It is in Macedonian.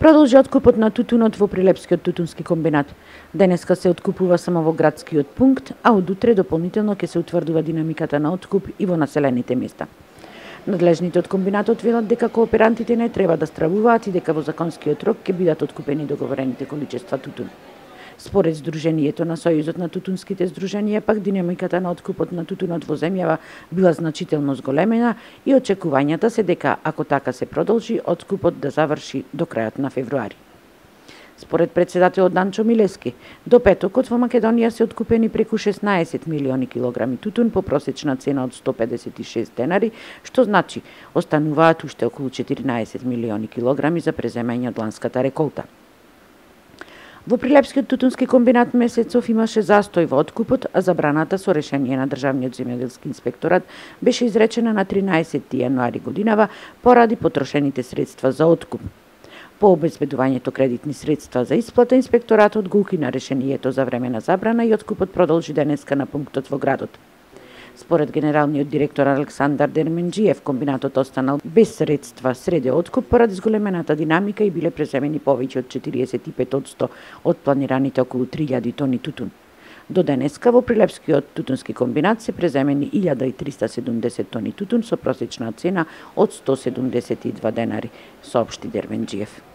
Продолжи откупот на тутунот во Прилепскиот тутунски комбинат. Денеска се откупува само во градскиот пункт, а од утре дополнително ќе се утврдува динамиката на откуп и во населените места. Надлежните од комбинатот велат дека кооперантите не треба да стравуваат и дека во законскиот рок ќе бидат откупени договорените количества тутун. Според Сдруженијето на Сојузот на тутунските здруженија, пак динамиката на откупот на тутунот во земјава била значително зголемена и очекувањата се дека, ако така се продолжи, откупот да заврши до крајот на февруари. Според председателот Данчо Милески, до петокот во Македонија се откупени преку 16 милиони килограми тутун по просечна цена од 156 денари, што значи остануваат уште околу 14 милиони килограми за преземање од ланската реколта. Во Прилепскиот тутунски комбинат месецов имаше застој во откупот, а забраната со решение на Државниот земјоделски инспекторат беше изречена на 13 јануари годинава поради потрошените средства за откуп. По обезбедувањето кредитни средства за исплата, инспекторатот го укина решението за времена забрана и откупот продолжи денеска на пунктот во градот. Според генералниот директор Александар Дерменџиев, комбинатот останал без средства среде откуп поради зголемената динамика и биле преземени повеќе од 45% од планираните околу 3000 тони тутун. До денеска во Прилепскиот тутунски комбинат се преземени 1370 тони тутун со просечна цена од 172 денари, соопшти Дерменџиев.